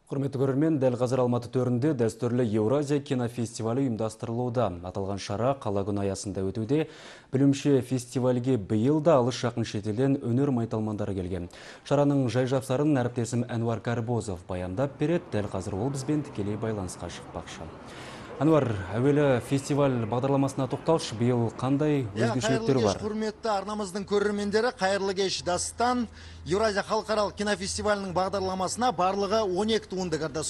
Құрметті көрермен, дәл қазір Алматы төрінде дәстүрлі Еуразия кинофестивалі ұйымдастырылуда. Аталған шара қала күні аясында өтуде. Білімше фестивальге биыл да алыс жақын шетелден өнер майталмандары келген. Шараның жай-жапсарын әріптесім Әнуар Кәрбозов баяндап береді. Дәл қазір ол бізбен тікелей байланысқа шықпақшы. Әнуар, әуелі фестиваль бағдарламасына тоқталшы, биыл қандай өзгешеліктер бар? Құрметті арнамыздың көрермендері, қайырлы кеш. Дастан Еуразия халықаралық кинофестивалінің бағдарламасына барлығы 12 туынды кірді.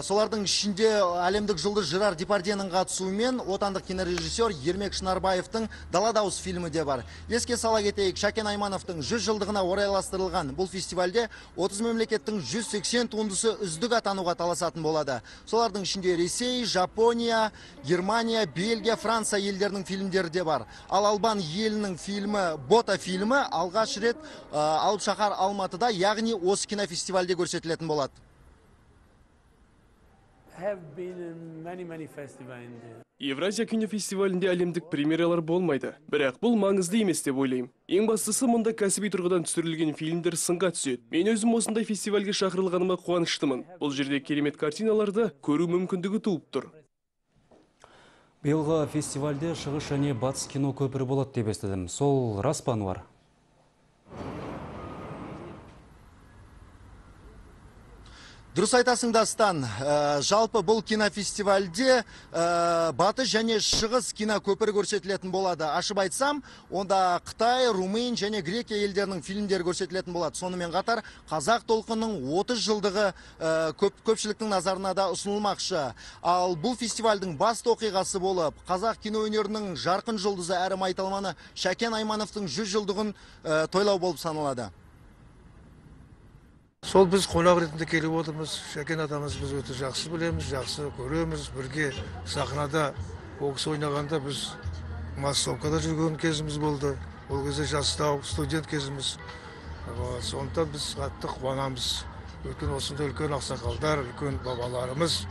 Солардың ішінде әлемдік жұлдыз Жерар Депардьенің қатысуымен отандық кинорежиссер Ермек Шынарбаевтың «Дала дауыс» фильмі де бар. Еске сала кетейік, Шәкен Аймановтың 100 жылдығына орайластырылған бұл фестивальде 30 мемлекеттің 180 туындысы үздік атануға таласатын болады. Солардың ішінде Ресей, Жапония, Германия, Бельгия, Франция елдерінің фильмдері де бар. Ал Албан елінің фильмі «Бота» фильмі алғаш рет Алып шаһар Алматыда, яғни осы кинофестивальде көрсетілетін болады. Евразия кинофестивалінде әлемдік премьералар болмайды, бірақ бұл маңызды емес деп ойлаймын. Ең бастысы, мұнда кәсіби тұрғыдан түсірілген фильмдер сынға түседі. Мен өзім осындай фестивальге шақырылғаныма қуаныштымын. Бұл жерде керемет картиналарды көру мүмкіндігі туып тұр. Биылғы фестивальде шығыс және батыс кино көпірі болады деп естідім. Сол рас па, Әнуар? Дұрыс айтасың, Дастан. Жалпы бұл кинофестивальде батыс және шығыс кино көпірі көрсетілетін болады. Ашып айтсам, онда Қытай, Румын және Грекия елдерінің фильмдері көрсетілетін болады. Сонымен қатар қазақ толқынының 30 жылдығы көпшіліктің назарына да ұсынылмақшы. Ал бұл фестивальдің басты оқиғасы болып, қазақ кино өнерінің жарқын жұлдызы әрі майталманы Шәкен Аймановтың 100 жылдығын тойлау болып саналады. Сол біз қонақ ретінде келіп отырмыз. Шәкен атамыз біз өте жақсы білеміз, жақсы көреміз. Бірге сахнада бокс ойнағанда біз массовкада жүрген кезіміз болды. Ол кезде жастау студент кезіміз. Сондықтан біз қатты қуанамыз. Өйткені осындай үлкен ақсақалдар, үлкен бабаларымыз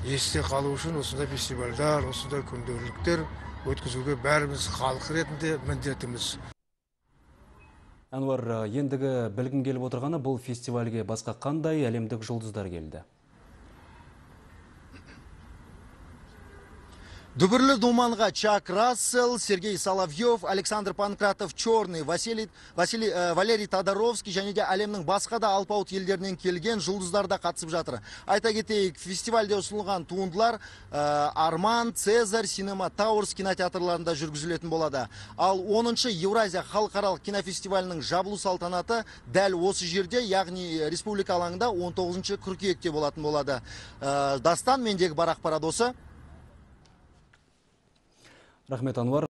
есте қалу үшін осындай фестивальдар, осындай күнделіктер өткізуге бәріміз халық ретінде міндетіміз. Әнуар, ендігі білгім келіп отырғаны, бұл фестивальге басқа қандай әлемдік жұлдыздар келді? Дүбірлі думанға Чак Рассел, Сергей Соловьев, Александр Панкратов Черный, Валерий Тодоровский және де әлемнің басқа да алпауыт елдерінен келген жұлдыздар да қатысып жатыр. Айта кетейік, фестивальде ұсынылған туындылар Арман, Цезарь, Cinema Towers кинотеатрларында жүргізілетін болады. Ал 10-шы Еуразия халықаралық кинофестивалінің жабылу салтанаты дәл осы жерде, яғни республика алаңында 19-шы қыркүйекте болатын болады. Дастан, мендегі бар ақпарат осы. Рахмет, Әнуар.